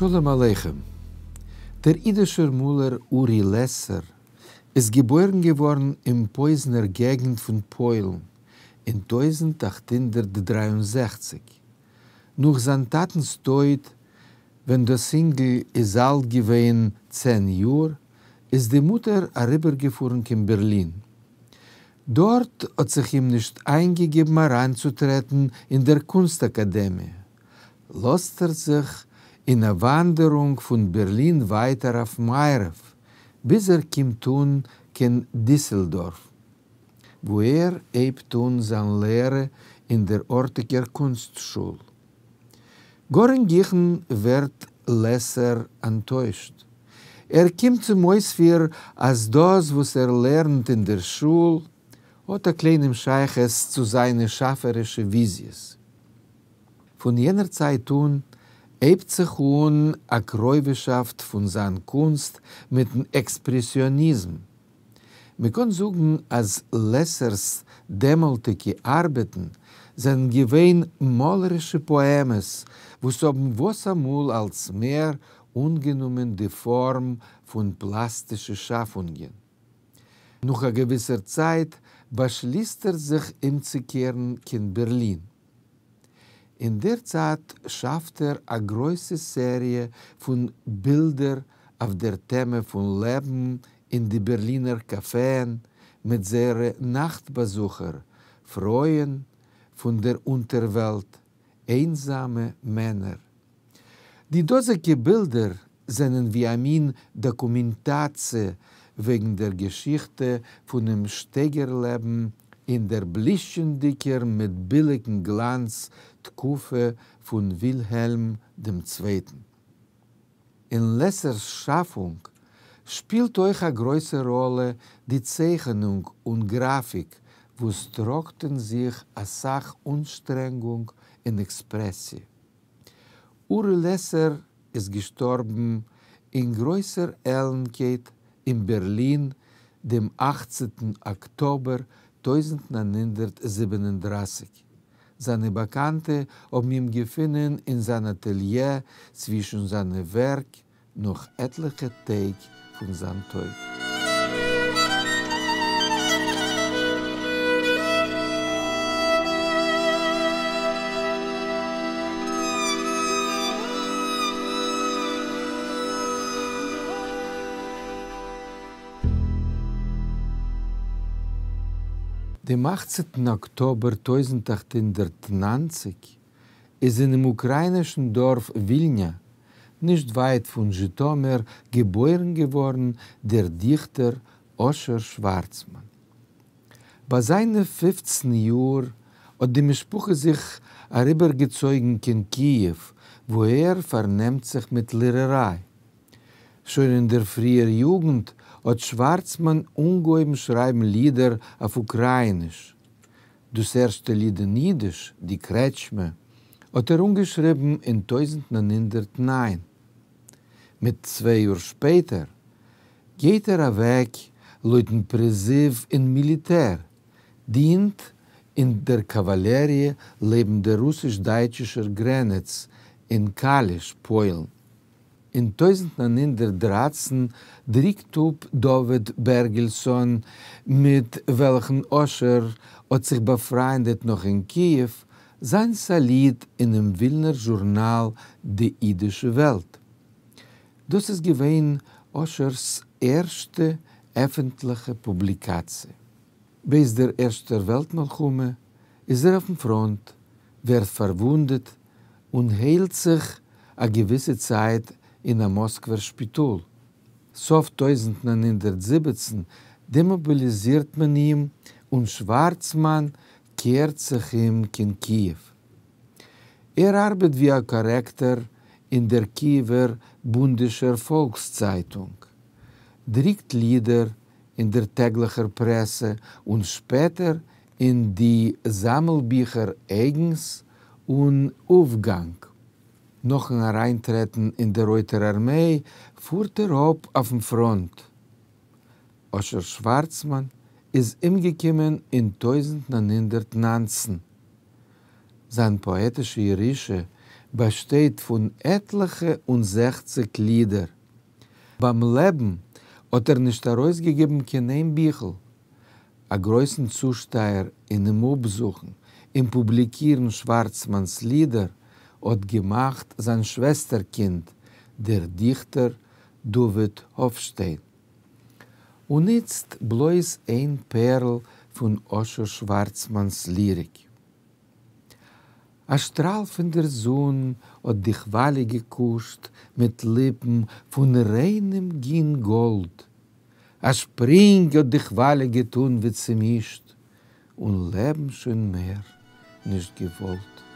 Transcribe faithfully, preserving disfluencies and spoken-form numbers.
שלום עליכם. דער ייִדישער מאָלער אורי לעסער איז געבוירן געוואָרן אין פּויזנער געגנט פֿון פּוילן אין טויזנט אַכט הונדערט דרײַ און זעכציק. נאָך זײַן טאַטנס טויט, ווען דאָס ייִנגל איז אַלט געווען צען יאָר, איז די מוטער אַריבערגעפֿאָרן קיין בערלין. דאָרט האָט זיך אים נישט אײַנגעגעבן אַרײַנצוטרעטן אין דער קונסט-אַקאַדעמיע. לאָזט ער זיך אין אַ וואַנדערונג פֿון בערלין ווײַטער אויף מערבֿ, ביז ער קומט אָן קיין דיסעלדאָרף, וווּ ער הייבט אָן זײַן לערע אין דער אָרטיקער קונסטשול. גאָר אין גיכן ווערט לעסער אַנטוישט. ער קומט צום אויספֿיר, אַז דאָס, וואָס ער לערנט אין דער שול, האָט אַ קליינעם שײַכות צו זײַנע שאַפֿערישע וויזיעס. פֿון יענער צײַט אָן הייבט זיך אָן אַ קרובהשאַפֿט פֿון זײַן קונסט מיטן עקספּרעסיאָניזם. מע קען זאָגן, אַז לעסערס דעמאָלטיקע אַרבעטן זענען געווען מאָלערישע פּאָעמעס, וואָס האָבן וואָס אַ מאָל אַלץ מער אָנגענומען די פֿאָרם פֿון פּלאַסטישע שאַפֿונגען. נאָך אַ געוויסער צײַט באַשליסט ער זיך אומצוקערן קיין בערלין. אין דער צײַט שאַפֿט ער אַ גרויסע סעריע פֿון בילדער אויף דער טעמע פֿון לעבן אין די בערלינער קאַפֿעען מיט זייערע נאַכט-באַזוכער, פֿרויען פֿון דער אונטערוועלט, איינזאַמע מענער. די דאָזיקע בילדער זענען ווי אַ מין דאָקומענטאַציע וועגן דער געשיכטע פֿונעם שטייגער-לעבן אין דער בלישטשענדיקער מיט ביליקן גלאַנץ תּקופֿה פֿון ווילהעלם דעם צווייטן. אין לעסערס שאַפֿונג שפּילט אויך אַ גרויסע ראָלע די צייכענונג און גראַפֿיק, וואָס טראָגט אין זיך אַ סך אָנשטרענגונג און עקספּרעסיע. אורי לעסער איז געשטאָרבן אין גרויסער עלנטקייט אין בערלין דעם אַכצנטן אָקטאָבער טויזנט נײַן הונדערט זיבן און דרײַסיק. זײַנע באַקאַנטע האָבן אים געפֿונען אין זײַן אַטעליע צווישן זײַנע ווערק נאָך עטלעכע טעג פֿון זײַן טויט. דעם אַכצנטן אָקטאָבער טויזנט אַכט הונדערט נײַנציק איז אינעם אוקראַיִנישן דאָרף ווילנע, נישט ווײַט פֿון זשיטאָמיר, געבוירן געוואָרן דער דיכטער אָשר שוואַרצמאַן. בײַ זײַנע פֿופֿצן יאָר האָט די משפּחה זיך אַריבערגעצויגן קיין קיִעוו, וווּ ער פֿאַרנעמט זיך מיט לערערײַ. שוין אין דער פֿריִער יוגנט האָט שוואַרצמאַן אָנגעהויבן שרײַבן לידער אויף אוקראַיִניש. דאָס ערשטע ליד אין ייִדיש, די קרעטשמע, האָט ער אָנגעשריבן אין טויזנט נײַן הונדערט נײַן. מיט צוויי יאָר שפּעטער גייט ער אַוועק לויטן פּריזיוו אין מיליטער, דינט אין דער קאַוואַלעריע לעבן דער רוסיש-דײַטשישער גרענעץ אין קאַליש, פּוילן. אין טויזנט נײַן הונדערט דרײַצן דרוקט אָפּ דוד בערגעלסאָן, מיט וועלכן אָשר האָט זיך באַפֿרײַנדעט נאָך אין קיִעוו, זײַנס אַ ליד אינעם ווילנער זשורנאַל די ייִדישע וועלט. דאָס איז געווען אָשרס ערשטע עפֿנטלעכע פּובליקאַציע. בעת דער ערשטער וועלט-מלחמה איז ער אויפֿן פֿראָנט, ווערט פֿאַרוווּנדעט און היילט זיך אַ געוויסע צײַט אין אַ מאָסקווער שפּיטאָל. סוף טויזנט נײַן הונדערט זיבעצן דעמאָביליזירט מען אים און שוואַרצמאַן קערט זיך אום קיין קיִעוו. ער אַרבעט ווי אַ קאָרעקטאָר אין דער קיִעווער בונדישער פֿאָלקסצײַטונג, דרוקט לידער אין דער טעגלעכער פּרעסע און שפּעטער אין די זאַמלביכער אייגנס און אויפֿגאַנג. נאָכן אַרײַנטרעטן אין דער רויטער אַרמיי פֿאָרט ער אָפּ אויפֿן פֿראָנט. אָשר שוואַרצמאַן איז אומגעקומען אין טויזנט נײַן הונדערט נײַנצן. זײַן פּאָעטישע ירושה באַשטייט פֿון עטלעכע און זעכציק לידער. בײַם לעבן האָט ער נישט אַרויסגעגעבן קיין איין ביכל. אַ גרויסן צושטײַער אינעם אָפּזוכן און פּובליקירן שוואַרצמאַנס לידער האָט געמאַכט זײַן שוועסטערקינד, דער דיכטער דוד האָפֿשטיין. און איצט בלויז איין פּערל פֿון אָשר שוואַרצמאַנס ליריק. אַ שטראַל פֿון דער זון האָט די כוואַליע געקושט מיט ליפּן פֿון ריינעם גין-גאָלד. אַ שפּרינג האָט די כוואַליע געטאָן ווי צעמישט און לעבן שוין מער נישט געוואָלט.